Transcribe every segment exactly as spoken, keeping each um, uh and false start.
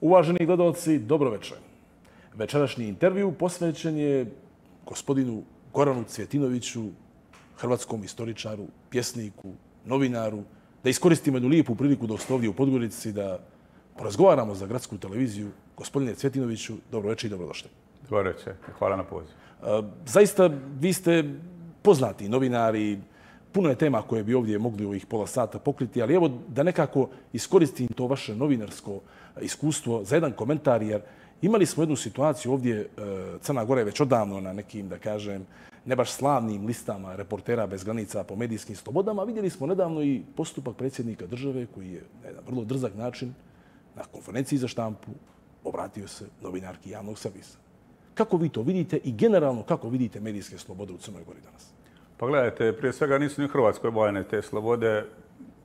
Uvaženi gledalci, dobro večer. Večerašnji intervju posvećen je gospodinu Goranu Cvjetinoviću, hrvatskom istoričaru, pjesniku, novinaru, da iskoristimo jednu lijepu priliku da ste ovdje u Podgorici, da porazgovaramo za gradsku televiziju. Gospodine Cvjetinoviću, dobro večer i dobrodošli. Dobro večer, hvala na pozivu. Zaista, vi ste poznati novinari, puno je tema koje bi ovdje mogli u ovih pola sata pokriti, ali evo da nekako iskoristim to vaše novinarsko iskustvo za jedan komentar, jer imali smo jednu situaciju ovdje, Crna Gora je već odavno na nekim, da kažem, ne baš slavnim listama reportera bez granica po medijskim slobodama. Vidjeli smo nedavno i postupak predsjednika države koji je na jedan vrlo drzak način na konferenciji za štampu obratio se novinarki javnog servisa. Kako vi to vidite i generalno kako vidite medijske slobode u Crnoj Gori danas? Pa gledajte, prije svega nisu ni u Hrvatskoj bojane te slobode.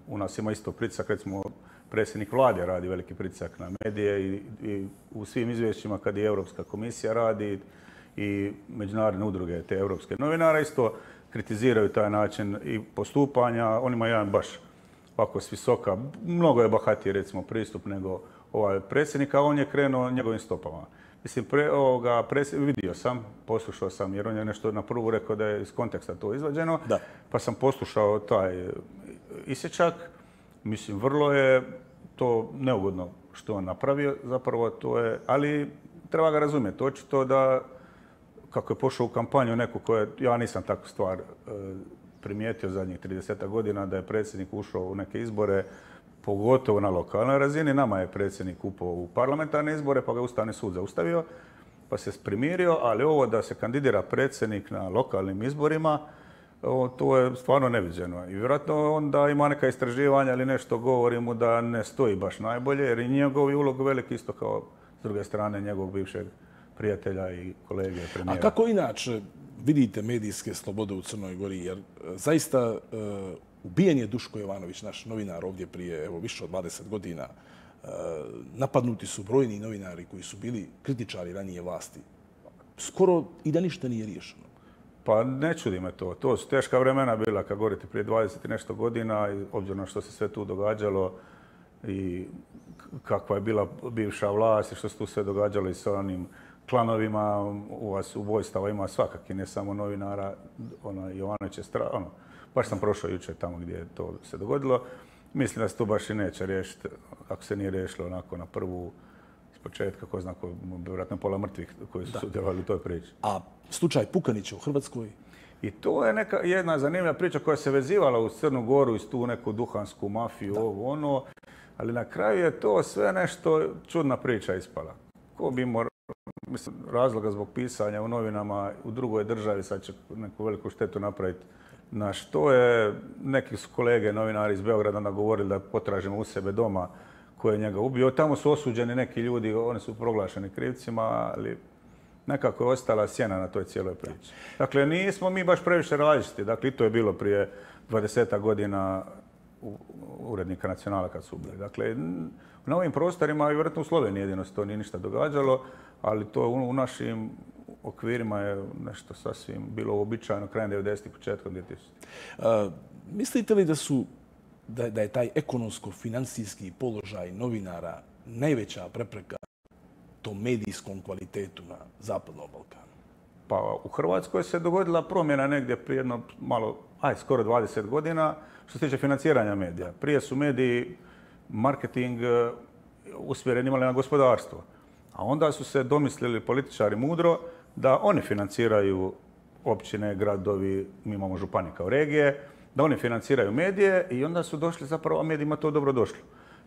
U nas ima isto pritisak, recimo predsjednik vlade radi veliki pritisak na medije i, i u svim izvješćima kad je Europska komisija radi i međunarodne udruge te europske novinara isto kritiziraju taj način i postupanja. On ima jedan baš ovako s visoka, mnogo je bahatiji recimo pristup nego ovaj predsjednik, a on je krenuo njegovim stopama. Mislim, pre, ovoga, vidio sam, poslušao sam, jer on je nešto na prvu rekao da je iz konteksta to izvađeno, da. Pa sam poslušao taj isječak. Mislim, vrlo je to neugodno što on napravio, zapravo to je, ali treba ga razumjeti. Očito da, kako je pošao u kampanju neku koja, ja nisam takvu stvar e, primijetio zadnjih trideset godina, da je predsjednik ušao u neke izbore, pogotovo na lokalnoj razini. Nama je predsjednik upao u parlamentarne izbore, pa ga Ustavni sud zaustavio, pa se primirio, ali ovo da se kandidira predsjednik na lokalnim izborima, o, to je stvarno neviđeno. I vjerojatno onda ima neka istraživanja ili nešto govori mu da ne stoji baš najbolje, jer i njegov je ulog veliki isto kao s druge strane njegovog bivšeg prijatelja i kolege premijera. A kako inače vidite medijske slobode u Crnoj Gori? Jer zaista ubijen je Duško Jovanović, naš novinar ovdje prije evo, više od dvadeset godina. Napadnuti su brojni novinari koji su bili kritičari ranije vlasti. Skoro i da ništa nije riješeno. Pa ne čudi me to. To su teška vremena bila, kad govorite, prije dvadeset i nešto godina, i obzirom na što se sve tu događalo i kakva je bila bivša vlast i što se tu sve događalo i sa onim klanovima, u vas ubojstava ima svakaki, ne samo novinara, ono, Jovanović je stra... ono, baš sam prošao jučer tamo gdje je to se dogodilo. Mislim da se to baš i neće riješiti, ako se nije riješilo onako na prvu iz početka, ko zna, vjerojatno pola mrtvih koji su sudjelovali u toj priči. A slučaj Pukanića u Hrvatskoj? I to je neka jedna zanimljiva priča koja se vezivala u Crnu Goru, iz tu neku duhansku mafiju, ovo ono, ali na kraju je to sve nešto čudna priča ispala. Ko bi imao mislim, razloga zbog pisanja u novinama u drugoj državi, sad će neku veliku štetu napraviti. Na što je, neki su kolege novinari iz Beograda nagovorili da potražimo u sebe doma ko je njega ubio. Tamo su osuđeni neki ljudi, oni su proglašeni krivcima, ali nekako je ostala sjena na toj cijeloj priči. Dakle, nismo mi baš previše različiti. Dakle, i to je bilo prije dvadeset godina urednika Nacionala kad su ubili. Dakle, na ovim prostorima, i vjerojatno u Sloveniji jedino se to nije ništa događalo, ali to u našim okvirima je nešto sasvim bilo uobičajeno krajem devedesetih, početkom dvije tisućitih. Uh, mislite li da su da, da je taj ekonomsko-financijski položaj novinara najveća prepreka tom medijskom kvalitetu na Zapadnom Balkanu? Pa u Hrvatskoj se dogodila promjena negdje prije jedno malo, aj skoro dvadeset godina što se tiče financiranja medija. Prije su mediji marketing usmjereni imali na gospodarstvo, a onda su se domislili političari mudro da oni financiraju općine, gradovi, mi imamo županije kao regije, da oni financiraju medije i onda su došli zapravo, a medijima to dobro došlo.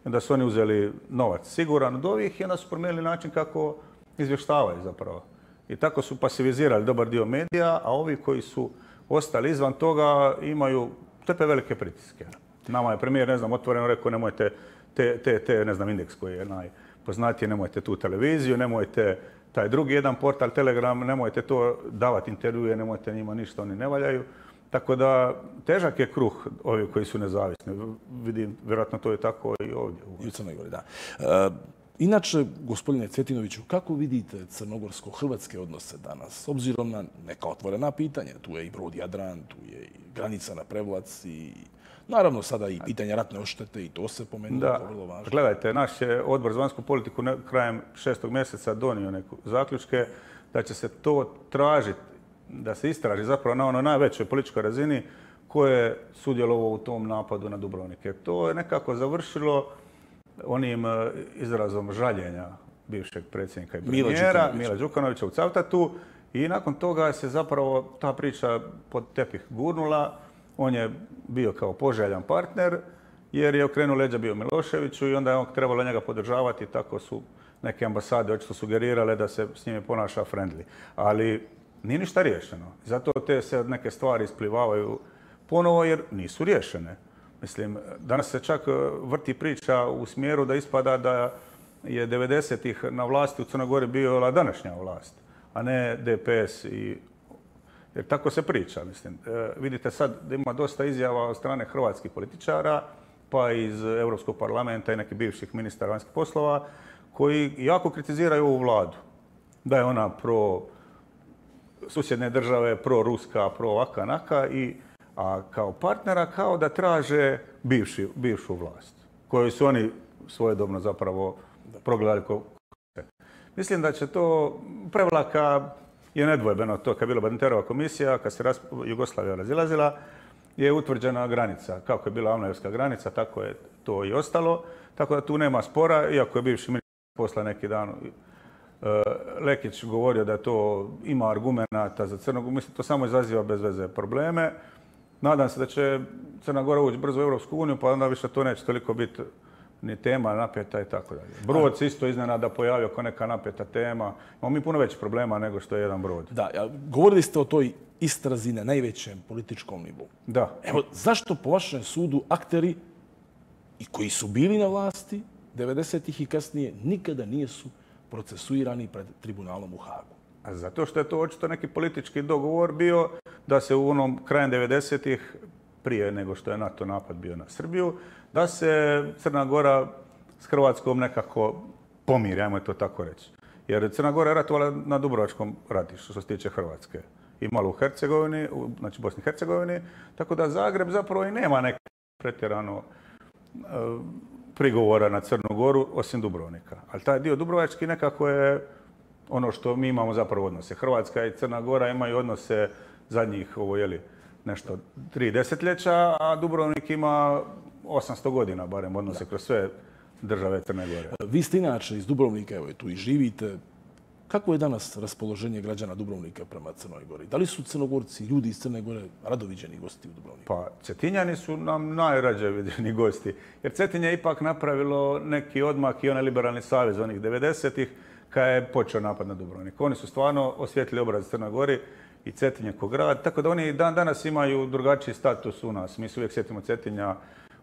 Onda su oni uzeli novac siguran od ovih i onda su promijenili način kako izvještavaju zapravo. I tako su pasivizirali dobar dio medija, a ovi koji su ostali izvan toga imaju trpe velike pritiske. Nama je premijer, ne znam, otvoreno rekao nemojte te, te, te, ne znam, Indeks koji je najpoznatiji, nemojte tu televiziju, nemojte taj drugi jedan portal, Telegram, nemojte to davati intervjue, nemojte njima ništa, oni ne valjaju. Tako da težak je kruh ovi koji su nezavisni. Vidim, vjerojatno to je tako i ovdje. I u Crnoj Gori, da. Inače, gospodine Cvjetinoviću, kako vidite crnogorsko-hrvatske odnose danas? S obzirom na neka otvorena pitanja, tu je i brod Jadran, tu je i granica na Prevlac i naravno sada i pitanje ratne odštete i to se pomenuo, to je vrlo važno. Gledajte, naš je odbor za vanjsku politiku krajem šestog mjeseca donio neke zaključke da će se to tražiti, da se istraži zapravo na onoj najvećoj političkoj razini ko je sudjelovao u tom napadu na Dubrovnik. To je nekako završilo onim izrazom žaljenja bivšeg predsjednika i premijera Mila Đukanovića u Cavtatu i nakon toga se zapravo ta priča pod tepih gurnula. On je bio kao poželjan partner jer je okrenuo leđa bio Miloševiću i onda je on trebalo njega podržavati. Tako su neke ambasade očito sugerirale da se s njime ponaša friendly. Ali nije ništa riješeno. Zato te se neke stvari isplivavaju ponovo jer nisu riješene. Mislim, danas se čak vrti priča u smjeru da ispada da je devedesetih na vlasti u Crnoj Gori bila današnja vlast, a ne D P S. I... Jer tako se priča, mislim. E, vidite sad da ima dosta izjava od strane hrvatskih političara, pa iz Europskog parlamenta i nekih bivših ministara vanjskih poslova, koji jako kritiziraju ovu vladu. Da je ona pro susjedne države, pro ruska, pro ovaka, naka i a kao partnera kao da traže bivši, bivšu vlast, koju su oni svojedobno zapravo progledali kao. Mislim da će to Prevlaka je nedvojbeno to kad je bila Badinterova komisija, kad se Jugoslavija razilazila, je utvrđena granica. Kako je bila Avnojevska granica, tako je to i ostalo. Tako da tu nema spora, iako je bivši ministar posla neki dan Lekić govorio da to ima argumenata za Crnogoru. Mislim, to samo izaziva bez veze probleme. Nadam se da će Crna Gora ući brzo u Europsku uniju, pa onda više to neće toliko biti ni tema napeta i tako dalje. Brod se isto iznenada pojavio kao neka napeta tema. Imamo mi puno većih problema nego što je jedan brod. Da, govorili ste o toj istrazi na najvećem političkom nivou. Da. Evo, zašto po vašem sudu akteri i koji su bili na vlasti devedesetih i kasnije nikada nisu procesuirani pred tribunalom u Hagu? Zato što je to očito neki politički dogovor bio da se u onom krajem devedesetih, prije nego što je NATO napad bio na Srbiju, da se Crna Gora s Hrvatskom nekako pomiri, ajmo to tako reći. Jer Crna Gora je ratovala na Dubrovačkom ratištu što se tiče Hrvatske i malo u Hercegovini, znači Bosni i Hercegovini, tako da Zagreb zapravo i nema neke pretjerano prigovora na Crnu Goru osim Dubrovnika. Ali taj dio Dubrovački nekako je ono što mi imamo zapravo odnose. Hrvatska i Crna Gora imaju odnose zadnjih, ovo je li, nešto tri desetljeća, a Dubrovnik ima osamsto godina, barem odnose kroz sve države Crne Gore. Vi ste inače iz Dubrovnika, evo tu i živite. Kako je danas raspoloženje građana Dubrovnika prema Crnoj Gori? Da li su Crnogorci, ljudi iz Crne Gore, radoviđeni gosti u Dubrovniku? Pa, Cetinjani su nam najrađe viđeni gosti. Jer Cetinje je ipak napravilo neki odmak i onaj liberalni savez onih devedesetih kada je počeo napad na Dubrovnik. Oni su stvarno osvijetlili obraz Crnoj Gori i Cetinje ko grad, tako da oni dan danas imaju drugačiji status u nas. Mi se uvijek sjetimo Cetinja,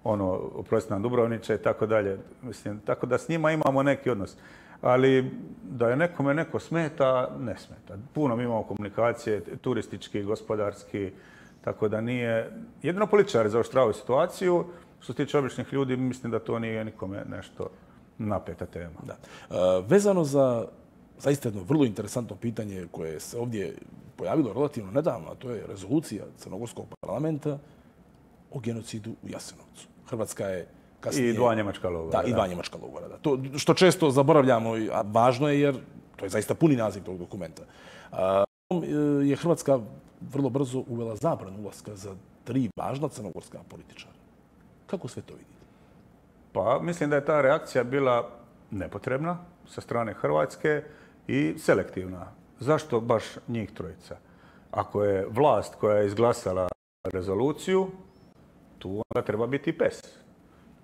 ono, oprosti nam Dubrovniče i tako dalje. Mislim, tako da s njima imamo neki odnos. Ali da je nekome neko smeta, ne smeta. Puno mi imamo komunikacije, turistički, gospodarski, tako da nije... Jedino političari zaoštravaju situaciju. Što se tiče običnih ljudi, mislim da to nije nikome nešto napeta tema. Da. E, vezano za zaista jedno vrlo interesantno pitanje koje se ovdje pojavilo relativno nedavno, a to je rezolucija Crnogorskog parlamenta o genocidu u Jasenovcu. Hrvatska je kasnije... I dva njemačka logora. Da, i dva njemačka logora. Da. To što često zaboravljamo, a važno je jer to je zaista puni naziv tog dokumenta. A, je Hrvatska vrlo brzo uvela zabranu ulaska za tri važna crnogorska političara. Kako sve to vidite? Pa mislim da je ta reakcija bila nepotrebna sa strane Hrvatske i selektivna. Zašto baš njih trojica? Ako je vlast koja je izglasala rezoluciju, tu onda treba biti i P E S.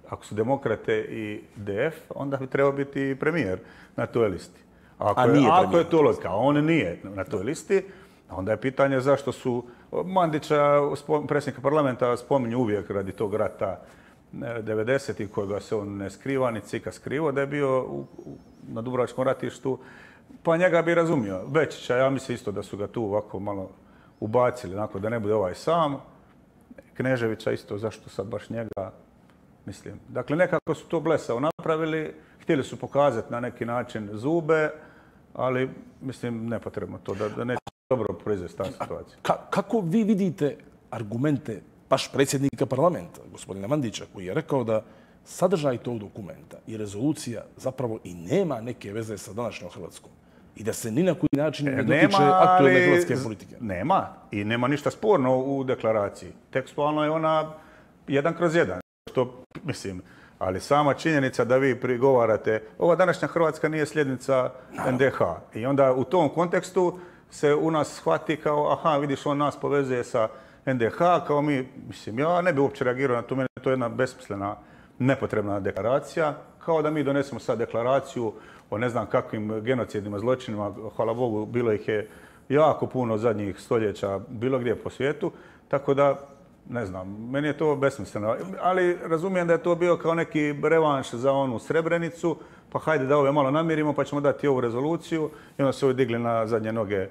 Ako su demokrate i D F, onda bi trebao biti i premijer na toj listi. Ako, a nije je, ako je to logika, a on nije na toj listi, onda je pitanje zašto su Mandića, predsjednika parlamenta, spominju uvijek radi tog rata devedesetih kojega se on ne skriva, ni cika skrivo da je bio u, u, na Dubrovačkom ratištu, pa njega bi razumio. Bečića, ja mislim isto da su ga tu ovako malo ubacili, onako da ne bude ovaj sam. Kneževića isto, zašto sad baš njega, mislim. Dakle, nekako su to blesavo napravili, htjeli su pokazati na neki način zube, ali, mislim, nepotrebno to, da, da neće dobro proizvesti ta situacija. Ka, kako vi vidite argumente baš predsjednika parlamenta, gospodina Mandića, koji je rekao da sadržaj tog dokumenta i rezolucija zapravo i nema neke veze sa današnjom Hrvatskom i da se ni na koji način ne dotiče aktualne hrvatske politike? Nema. I nema ništa sporno u deklaraciji. Tekstualno je ona jedan kroz jedan. Što, mislim, ali sama činjenica da vi prigovarate, ova današnja Hrvatska nije sljednica N D H. I onda u tom kontekstu se u nas shvati kao, aha, vidiš, on nas povezuje sa N D H, kao mi, mislim, ja ne bi uopće reagirao na to, meni to je jedna besmislena, nepotrebna deklaracija, kao da mi donesemo sad deklaraciju o ne znam kakvim genocidima, zločinima, hvala Bogu, bilo ih je jako puno zadnjih stoljeća, bilo gdje po svijetu, tako da, ne znam, meni je to besmisleno. Ali razumijem da je to bio kao neki revanš za onu Srebrenicu, pa hajde da ove malo namirimo, pa ćemo dati ovu rezoluciju. I onda su ovi digli na zadnje noge e,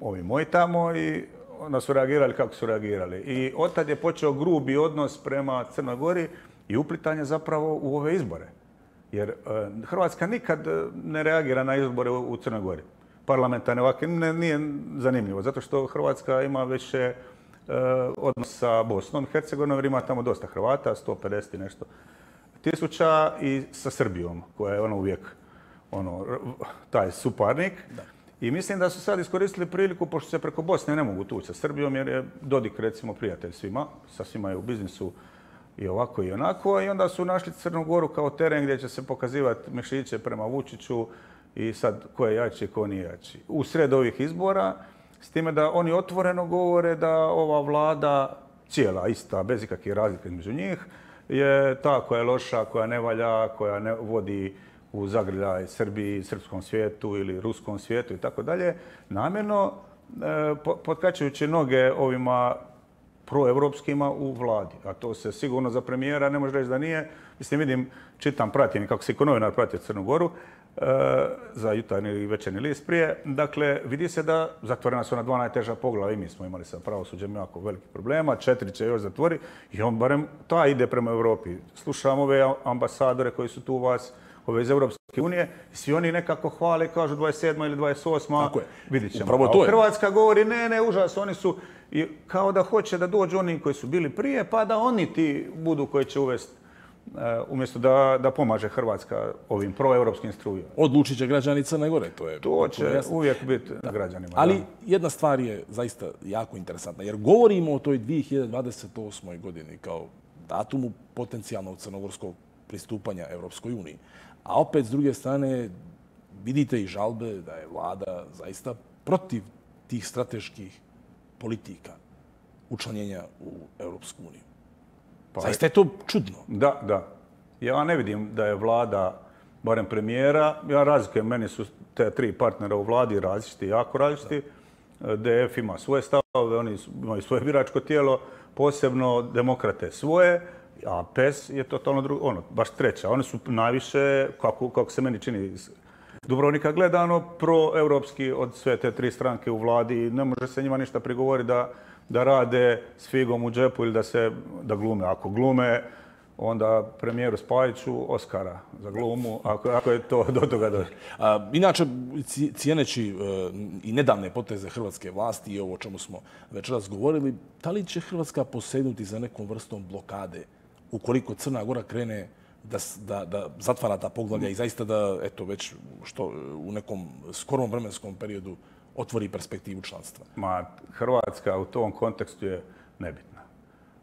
ovi moji tamo i onda su reagirali kako su reagirali. I otad je počeo grubi odnos prema Crnoj Gori i uplitanje zapravo u ove izbore. Jer e, Hrvatska nikad ne reagira na izbore u, u Crnoj Gori. Parlamentarne ovakve nije zanimljivo, zato što Hrvatska ima više odnos sa Bosnom i Hercegovinom, jer ima tamo dosta Hrvata, sto pedeset i nešto tisuća, i sa Srbijom, koja je ono uvijek ono, taj suparnik. Da. I mislim da su sad iskoristili priliku, pošto se preko Bosne ne mogu tući sa Srbijom, jer je Dodik, recimo, prijatelj svima, sa svima je u biznisu i ovako i onako, i onda su našli Crnu Goru kao teren gdje će se pokazivati mišiće prema Vučiću i sad ko je jači, ko nije jači. U sred ovih izbora, s time da oni otvoreno govore da ova vlada, cijela, ista, bez ikakvih razlika između njih, je ta koja je loša, koja ne valja, koja ne vodi u zagrljaj Srbiji, srpskom svijetu ili ruskom svijetu i tako dalje, namjerno e, potkačujući noge ovima proevropskima u vladi. A to se sigurno za premijera ne može reći da nije. Mislim, vidim, čitam, pratim kako se i novinar pratio Crnu Goru, za jutarnji i večernji list prije. Dakle, vidi se da zatvorena su na dva najteža poglavlja, i mi smo imali sa pravosuđem jako velikih problema, četiri će još zatvori i on barem ta ide prema Europi. Slušam ove ambasadore koji su tu u vas, ove iz Europske unije, i svi oni nekako hvale, kažu dvadeset sedma ili dvadeset osma vidit ćemo. A Hrvatska govori, ne, ne, užas, oni su, i kao da hoće da dođu oni koji su bili prije, pa da oni ti budu koji će uvesti, umjesto da, da pomaže Hrvatska ovim proevropskim strujama. Odlučit će građani Crne Gore, to je... To će jasno. Uvijek biti da. Građanima. Ali da. Jedna stvar je zaista jako interesantna, jer govorimo o toj dvije hiljade dvadeset osmoj godini kao datumu potencijalnog crnogorskog pristupanja Europskoj uniji. A opet, s druge strane, vidite i žalbe da je vlada zaista protiv tih strateških politika učlanjenja u Europsku uniju. Pa, zaista je to čudno. Da, da. Ja ne vidim da je vlada, barem premijera, ja razlikujem, meni su te tri partnera u vladi različiti, jako različiti. Da. D F ima svoje stavove, oni imaju svoje biračko tijelo, posebno demokrate svoje, a P E S je totalno drugo, ono, baš treća. Oni su najviše, kako, kako se meni čini iz Dubrovnika gledano, proevropski od sve te tri stranke u vladi i ne može se njima ništa prigovoriti da da rade s figom u džepu ili da se da glume. Ako glume, onda premijeru Spajiću Oskara za glumu, ako, ako je to do toga došlo. Inače, cijeneći uh, i nedavne poteze hrvatske vlasti i ovo o čemu smo večeras govorili, da li će Hrvatska posegnuti za nekom vrstom blokade ukoliko Crna Gora krene da, da, da zatvara ta poglavlja i zaista da, eto, već što u nekom skorom vremenskom periodu otvori perspektivu članstva? Ma, Hrvatska u tom kontekstu je nebitna.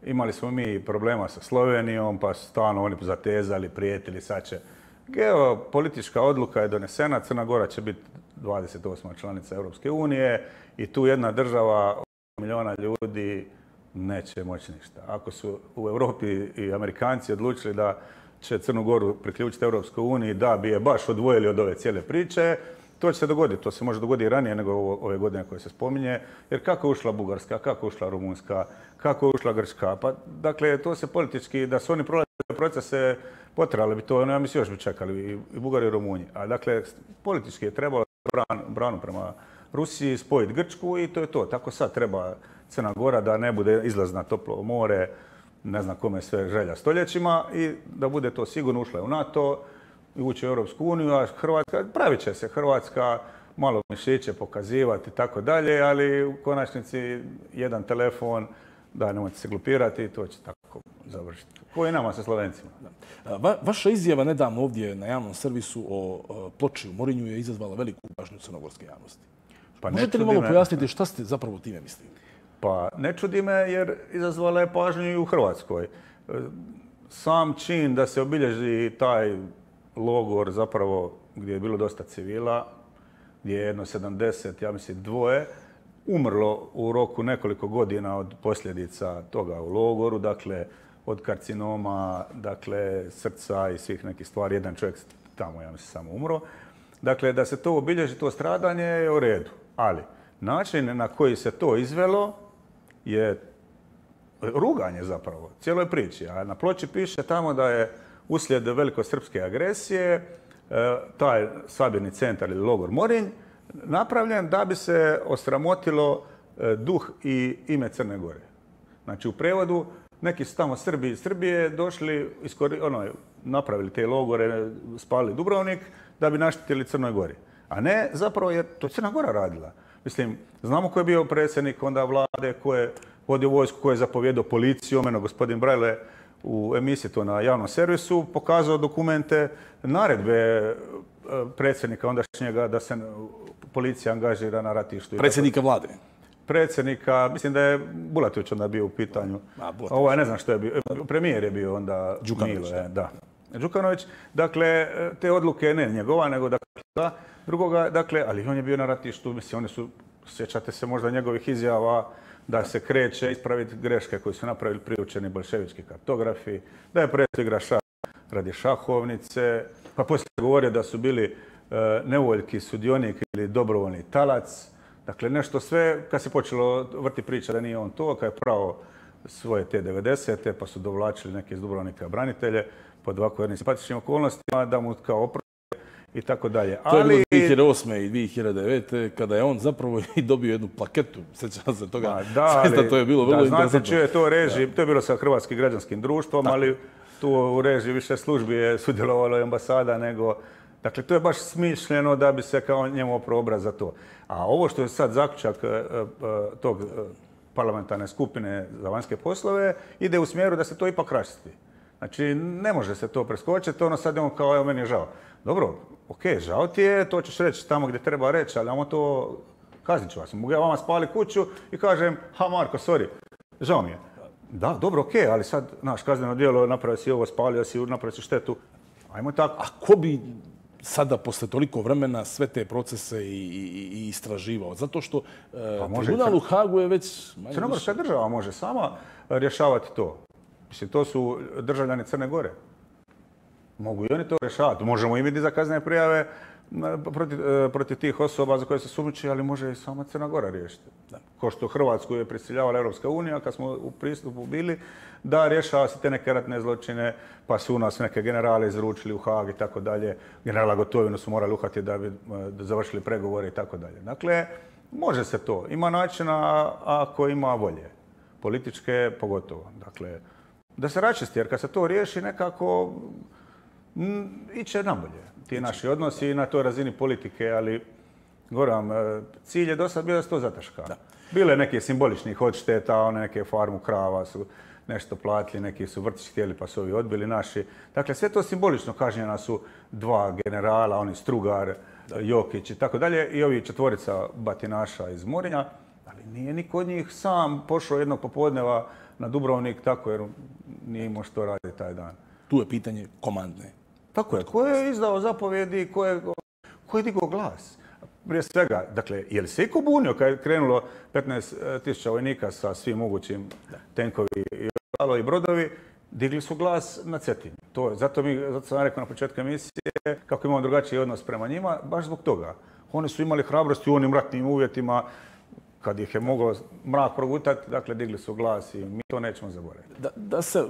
Imali smo mi problema sa Slovenijom, pa stalno oni zatezali, prijetili, sad će. Geopolitička odluka je donesena, Crna Gora će biti dvadeset osma članica Europske unije i tu jedna država, milijuna ljudi, neće moći ništa. Ako su u Europi i Amerikanci odlučili da će Crnu Goru priključiti Europskoj uniji, da bi je baš odvojili od ove cijele priče, to će se dogoditi. To se može dogoditi i ranije nego ove godine koje se spominje. Jer kako je ušla Bugarska, kako je ušla Rumunjska, kako je ušla Grčka. Pa, dakle, to se politički, da su oni prolazili procese, potrali bi to, ja mislim još bi čekali i Bugari i Rumunji. A dakle, politički je trebalo bran, branu prema Rusiji, spojiti Grčku i to je to. Tako sad treba Crna Gora da ne bude izlaz na toplo more, ne znam kome sve želja stoljećima i da bude to sigurno ušla u NATO i ući u Europsku uniju, a Hrvatska, pravit će se Hrvatska, malo mišiće pokazivati i tako dalje, ali u konačnici jedan telefon, da, nemojte se glupirati i to će tako završiti. Ko i nama sa Slovencima. Va, vaša izjava nedavno ovdje na javnom servisu o, o ploči u Morinju je izazvala veliku pažnju crnogorske javnosti. Pa možete li malo me... pojasniti šta ste zapravo time mislili? Pa ne čudi me jer izazvala je pažnju i u Hrvatskoj. Sam čin da se obilježi taj logor zapravo gdje je bilo dosta civila, gdje je jedno sedamdeset, ja mislim dvoje, umrlo u roku nekoliko godina od posljedica toga u logoru, dakle od karcinoma, dakle srca i svih nekih stvari. Jedan čovjek tamo, ja mislim, samo umro. Dakle, da se to obilježi, to stradanje je u redu. Ali način na koji se to izvelo je ruganje zapravo cijeloj priči. A na ploči piše tamo da je uslijed velikosrpske agresije taj sabirni centar ili logor Morinj napravljen da bi se osramotilo duh i ime Crne Gore. Znači u prevodu neki su tamo Srbi iz Srbije došli, iskori, ono, napravili te logore, spalili Dubrovnik da bi naštetili Crnoj Gori. A ne zapravo jer to Crna Gora radila. Mislim, znamo ko je bio predsjednik onda vlade, ko je vodio vojsku, ko je zapovjedao policiju. Meno gospodin Brajle u emisiji to na javnom servisu pokazao dokumente, naredbe predsjednika ondašnjega da se policija angažira na ratištu. Predsjednika vlade? Predsjednika, mislim da je Bulatović onda bio u pitanju. A, Ovo ne znam što je bio. Premijer je bio onda Đukanović. Milo, je, da. Đukanović. Dakle, te odluke ne njegova, nego dakle, drugoga, dakle, ali on je bio na ratištu, mislim, oni su, sjećate se možda njegovih izjava da se kreće ispraviti greške koje su napravili priučeni bolševički kartografi, da je presto igra šah radi šahovnice, pa poslije govorio da su bili e, nevoljki sudionik ili dobrovoljni talac. Dakle, nešto sve, kad se počelo vrti priča da nije on to, kad je pravo svoje te devedesete, pa su dovlačili neke iz Dubrovnika branitelje pod ovako jednim simpatičnim okolnostima, da mu kao oprosti i tako dalje. To je bilo dvije hiljade osme i dvije hiljade devete kada je on zapravo i dobio jednu plaketu. Sjećam se toga. Ma, da, ali, to je bilo vrlo da, interesantno. Znate, čuje to režiji, to je bilo sa Hrvatskim građanskim društvom, da. Ali tu u režiji više službi je sudjelovalo i ambasada nego... Dakle, to je baš smišljeno da bi se kao njemu oprao obraz za to. A ovo što je sad zaključak tog parlamentarne skupine za vanjske poslove ide u smjeru da se to ipak raščisti. Znači, ne može se to preskočiti, ono sad je on kao, evo, meni je žao. Dobro, ok, žao ti je, to ćeš reći tamo gdje treba reći, ali ajmo to, kaznit ću vas. Mogu ja vama spali kuću i kažem, ha Marko, sorry, žao mi je. Da, dobro, ok, ali sad, naš kazneno djelo, napravio si ovo, spalio si, napravio si štetu. Ajmo tako. A ko bi sada, posle toliko vremena, sve te procese i, i, i istraživao? Zato što pa tribunal u Hagu je već... Crnogorska država može sama rješavati to. Mislim, to su državljani Crne Gore. Mogu i oni to rješavati. Možemo i mi za kaznene prijave protiv, protiv tih osoba za koje se sumnjiči, ali može i sama Crna Gora riješiti. Da. Ko što Hrvatsku je prisiljavala Europska unija, kad smo u pristupu bili, da rješava se te neke ratne zločine, pa su u nas neke generale izručili u Hag i tako dalje. Generala Gotovinu su morali uhvatiti da bi da završili pregovore i tako dalje. Dakle, može se to. Ima načina ako ima volje. Političke pogotovo. Dakle, da se raščisti, jer kad se to riješi nekako m, iće nabolje. Ti naši odnosi na toj razini politike, ali govorim, cilj je do sad bio da se to zataška. Da. Bilo je neke simboličnih odšteta, one neke farmu krava su nešto platili, neki su vrtić htjeli pa su ovi odbili naši. Dakle, sve to simbolično kažnjena su dva generala, oni Strugar, da. Jokić i tako dalje, i ovi četvorica batinaša iz Morinja, ali nije niko od njih sam pošao jednog popodneva na Dubrovnik tako jer nije imao što raditi taj dan. Tu je pitanje komandne. Tako je. Ko je izdao zapovjedi, ko je, ko je digao glas? Prije svega, dakle, je li se iko bunio kad je krenulo petnaest tisuća vojnika sa svim mogućim tenkovi i brodovi, digli su glas na Cetinju. To, zato, mi, zato sam rekao na početku emisije kako imamo drugačiji odnos prema njima, baš zbog toga. Oni su imali hrabrosti u onim ratnim uvjetima, kad ih je mogao mrak progutati, dakle, digli su glas i mi to nećemo zaboraviti. Da, da se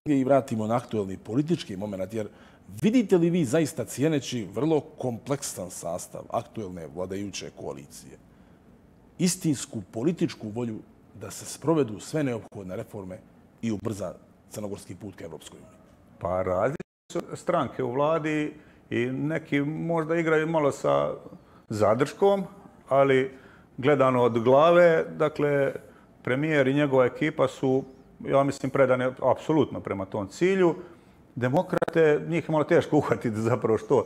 i vratimo na aktuelni politički moment, jer vidite li vi zaista cijeneći vrlo kompleksan sastav aktuelne vladajuće koalicije, istinsku političku volju da se sprovedu sve neophodne reforme i ubrza crnogorski put ka Evropskoj uniji? Pa različite su stranke u vladi i neki možda igraju malo sa zadrškom, ali gledano od glave, dakle, premijer i njegova ekipa su, ja mislim, predane apsolutno prema tom cilju. Demokrate, njih je malo teško uhvatiti zapravo što,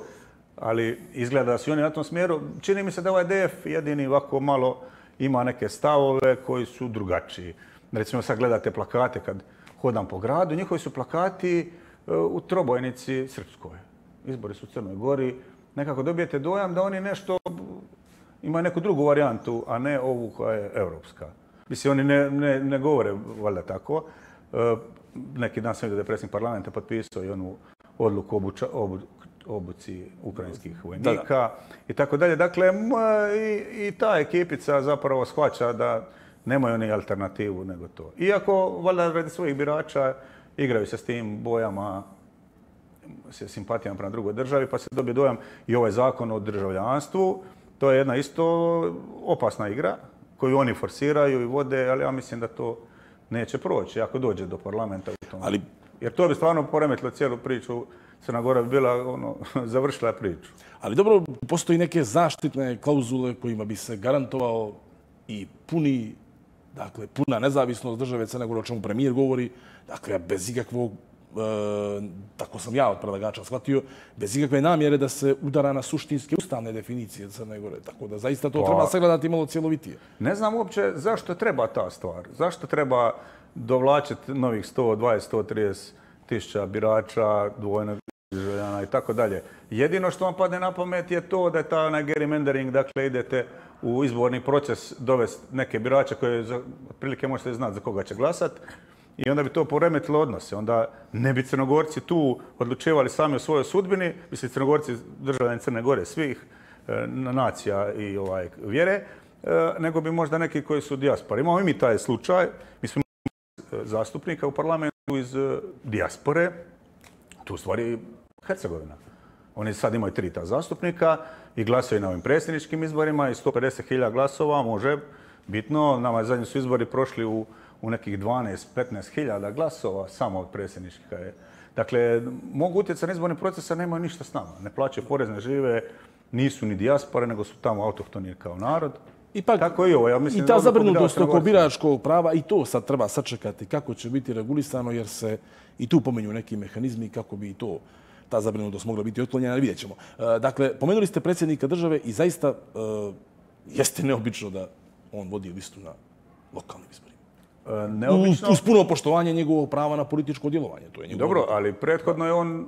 ali izgleda da su oni na tom smjeru. Čini mi se da ovaj D F jedini ovako malo ima neke stavove koji su drugačiji. Recimo sad gledate plakate kad hodam po gradu, njihovi su plakati u trobojnici srpskoj. Izbori su u Crnoj Gori. Nekako dobijete dojam da oni nešto imaju neku drugu varijantu, a ne ovu koja je europska. Mislim, oni ne, ne, ne govore valjda tako. Neki dan sam vidio da je predsjednik parlamenta potpisao i onu odluku obuča, obu, obuci ukrajinskih vojnika da, da. i tako dalje. Dakle, i, i ta ekipica zapravo shvaća da nemaju oni alternativu nego to. Iako, valjda radi svojih birača, igraju se s tim bojama, se simpatijama prema drugoj državi, pa se dobije dojam i ovaj zakon o državljanstvu. To je jedna isto opasna igra koju oni forsiraju i vode, ali ja mislim da to neće proći ako dođe do parlamenta u tom. Ali, jer to bi stvarno poremetilo cijelu priču. Crna Gora bi bila, ono, završila priču. Ali dobro, postoji neke zaštitne klauzule kojima bi se garantovao i puni, dakle, puna nezavisnost države Crne Gore, o čemu premijer govori, dakle, bez ikakvog, e, tako sam ja od predlagača shvatio, bez ikakve namjere da se udara na suštinske ustavne definicije Crne Gore. Tako da zaista to pa, treba sagledati malo cjelovitije. Ne znam uopće zašto treba ta stvar. Zašto treba dovlačiti novih sto dvadeset do sto trideset tisuća birača, dvojnog državljana i tako dalje. Jedino što vam padne na pamet je to da je ta gerrymandering, dakle idete u izborni proces dovesti neke birače koje za, otprilike možete znati za koga će glasati i onda bi to poremetilo odnose. Onda ne bi Crnogorci tu odlučivali sami o svojoj sudbini, mislim Crnogorci državljani Crne Gore svih e, nacija i ovaj, vjere, e, nego bi možda neki koji su dijaspori. Imamo i mi taj slučaj, mi smo zastupnika u parlamentu iz dijaspore, tu u stvari Hercegovina. Oni sad imaju tri ta zastupnika i glasaju na ovim predsjedničkim izborima i sto pedeset hiljada glasova može bitno. Nama zadnji su izbori prošli u, u nekih dvanaest do petnaest hiljada glasova samo od predsjedničkih. Dakle, mogu utjecati na izborni proces, a nemaju ništa s nama. Ne plaćaju porez, ne žive, nisu ni dijaspore, nego su tamo autohtoni kao narod. Ipak, tako i ovo. Ja mislim i ta zabrinutost oko biračkog prava, i to sad treba sačekati kako će biti regulisano, jer se i tu pomenju neki mehanizmi kako bi to, ta zabrinutost mogla biti otklonjena, vidjet ćemo. Dakle, pomenuli ste predsjednika države i zaista uh, jeste neobično da on vodi listu na lokalnim izborima. Uh, neobično? Uz puno poštovanje njegovog prava na političko djelovanje. To je njegovo. Dobro, ali prethodno je on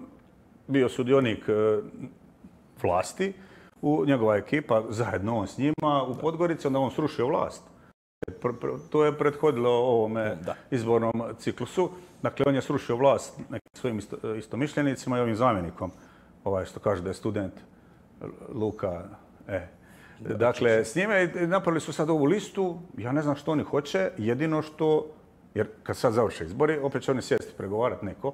bio sudionik uh, vlasti, u njegova ekipa, zajedno on s njima, u Podgorici, onda on srušio vlast. To je prethodilo ovome da. izbornom ciklusu. Dakle, on je srušio vlast nekim svojim isto, istomišljenicima i ovim zamjenikom, ovaj što kaže da je student Luka. E. Da, dakle, s njime napravili su sad ovu listu, ja ne znam što oni hoće, jedino što, jer kad sad završe izbori, opet će oni sjesti pregovarati neko.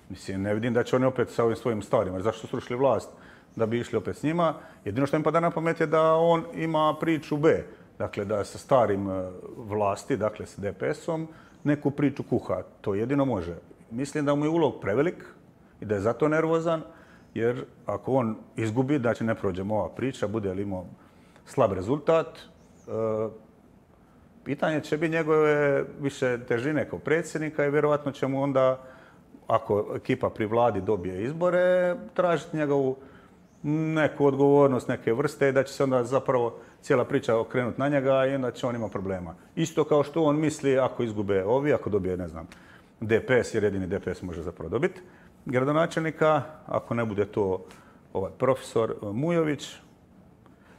Mislim, ne vidim da će oni opet sa ovim svojim starima, jer zašto su srušili vlast? Da bi išli opet s njima. Jedino što im pada na pamet je da on ima priču B. Dakle, da sa starim vlasti, dakle s D P S-om, neku priču kuha. To jedino može. Mislim da mu je ulog prevelik i da je zato nervozan, jer ako on izgubi, da će ne prođemo ova priča, bude li imao slab rezultat, pitanje će biti njegove više težine kao predsjednika i vjerovatno će mu onda, ako ekipa pri vladi dobije izbore, tražiti njegovu neku odgovornost, neke vrste i da će se onda zapravo cijela priča okrenuti na njega i onda će on imati problema. Isto kao što on misli ako izgube ovi, ako dobije, ne znam, D P S, jer jedini D P S može zapravo dobiti gradonačelnika, ako ne bude to ovaj profesor Mujović,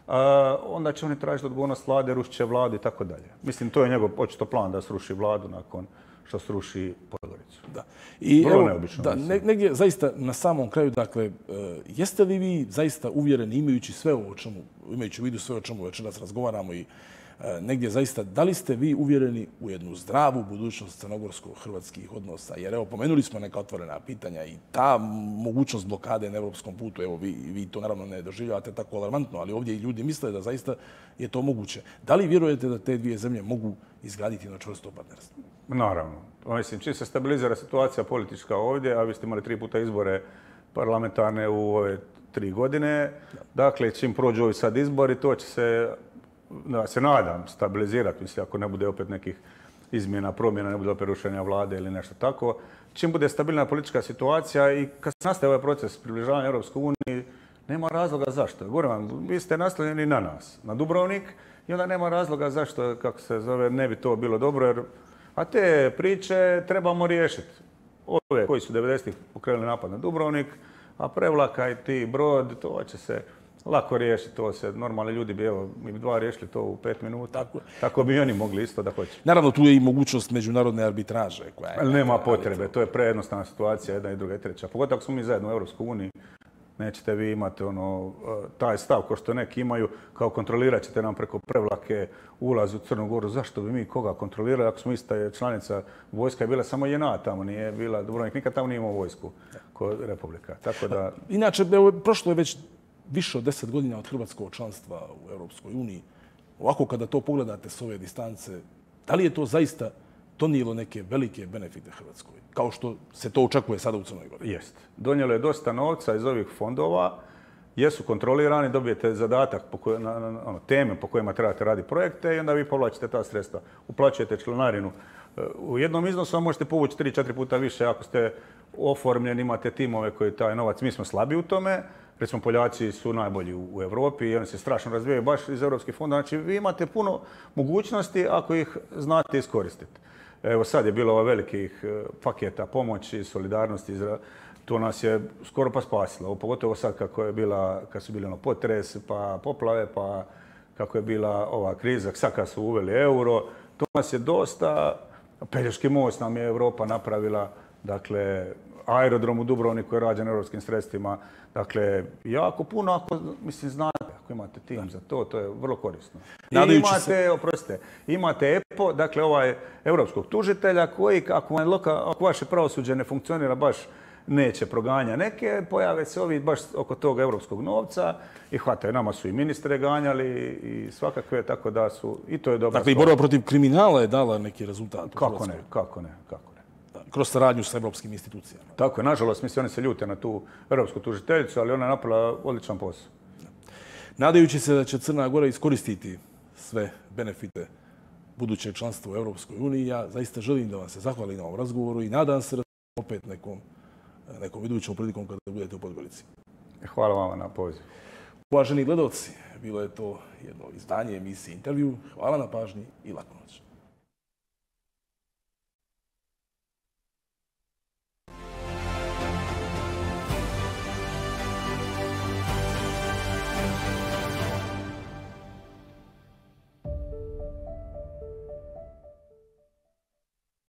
a, onda će oni tražiti odgovornost vlade, rušit će vladu i tako dalje. Mislim, to je njegov očito plan da sruši vladu nakon što sruši Podgoricu. Da. I evo, da, ne, negdje zaista na samom kraju, dakle, jeste li vi zaista uvjereni, imajući sve ovo o čemu, imajući u vidu sve o čemu večeras razgovaramo i negdje zaista, da li ste vi uvjereni u jednu zdravu budućnost crnogorsko-hrvatskih odnosa? Jer evo, pomenuli smo neka otvorena pitanja i ta mogućnost blokade na evropskom putu, evo, vi, vi to naravno ne doživljavate tako alarmantno, ali ovdje i ljudi misle da zaista je to moguće. Da li vjerujete da te dvije zemlje mogu izgraditi jedno čvrsto partnerstvo? Naravno. Mislim, čim se stabilizira situacija politička ovdje, a vi ste imali tri puta izbore parlamentarne u ove tri godine, dakle, čim prođu ovi sad izbori, to će se, da se nadam, stabilizirati, mislim, ako ne bude opet nekih izmjena, promjena, ne bude opet rušenja vlade ili nešto tako. Čim bude stabilna politička situacija i kad se nastaje ovaj proces približavanja Europskoj uniji, nema razloga zašto. Govorim vam, vi ste nastavljeni na nas, na Dubrovnik, i onda nema razloga zašto, kako se zove, ne bi to bilo dobro, jer a te priče trebamo riješiti. Ove koji su devedesetih pokrenuli napad na Dubrovnik, a Prevlaka i ti Brod, to će se lako riješiti. To se normalni ljudi bi, evo, mi bi dva riješili to u pet minuta. Tako, Tako bi i oni mogli isto da hoće. Naravno, tu je i mogućnost međunarodne arbitraže. Koja je, Ali nema potrebe, to je prejednostavna situacija, jedna i druga i treća. Pogotovo ako smo mi zajedno u Europskoj uniji, nećete vi imati ono, taj stav ko što neki imaju, kao kontrolirat ćete nam preko Prevlake ulaz u Crnu Goru. Zašto bi mi koga kontrolirali ako smo ista članica? Vojska je bila samo jedna tamo, nije bila Dubrovnik, nikad tamo nije imao vojsku kod Republika. Tako da... Inače, evo, prošlo je već više od deset godina od hrvatskog članstva u Europskoj uniji. Ovako, kada to pogledate s ove distance, da li je to zaista donijelo neke velike benefite Hrvatskoj, kao što se to očekuje sada u Crnoj Gori? Jest. Donijelo je dosta novca iz ovih fondova, jesu kontrolirani, dobijete zadatak, po koj, na, na, ono, teme po kojima trebate raditi projekte i onda vi povlačite ta sredstva. Uplaćujete članarinu. U jednom iznosu možete povući tri četiri puta više ako ste oformljeni, imate timove koji taj novac, mi smo slabi u tome. Recimo, Poljaci su najbolji u Europi i oni se strašno razvijaju baš iz europskih fondova. Znači, vi imate puno mogućnosti ako ih znate iskoristiti. Evo sad je bilo velikih paketa pomoći, solidarnosti, to nas je skoro pa spasilo. Pogotovo sad kako je bila, kad su bili ono potres, pa poplave, pa kako je bila ova kriza, sad kad su uveli euro, to nas je dosta, Pelješki most nam je Europa napravila, dakle, aerodrom u Dubrovniku je rađen europskim sredstvima, dakle, jako puno, ako, mislim, znate, ako imate tim za to, to je vrlo korisno. I imate, se... oprostite, imate E P O, dakle, ovaj europskog tužitelja koji, ako, loka, ako vaše pravosuđe ne funkcionira baš, neće proganja neke, pojave se ovi baš oko tog europskog novca i hvataju. Nama su i ministre ganjali i svakakve, tako da su, i to je dobro. Dakle, i borba protiv kriminala je dala neki rezultat. Kako ne, kako ne, kako ne. Kroz saradnju s evropskim institucijama. Tako je, nažalost, mislim, oni se ljute na tu europsku tužiteljicu, ali ona je napravila odličan posao. Nadajući se da će Crna Gora iskoristiti sve benefite budućeg članstva u Europskoj uniji, ja zaista želim da vam se zahvalim na ovom razgovoru i nadam se da opet nekom, nekom idućom prilikom kada budete u Podgorici. Hvala vam na pozivu. Uvaženi gledalci, bilo je to jedno izdanje emisije Intervju. Hvala na pažnji i laku noć.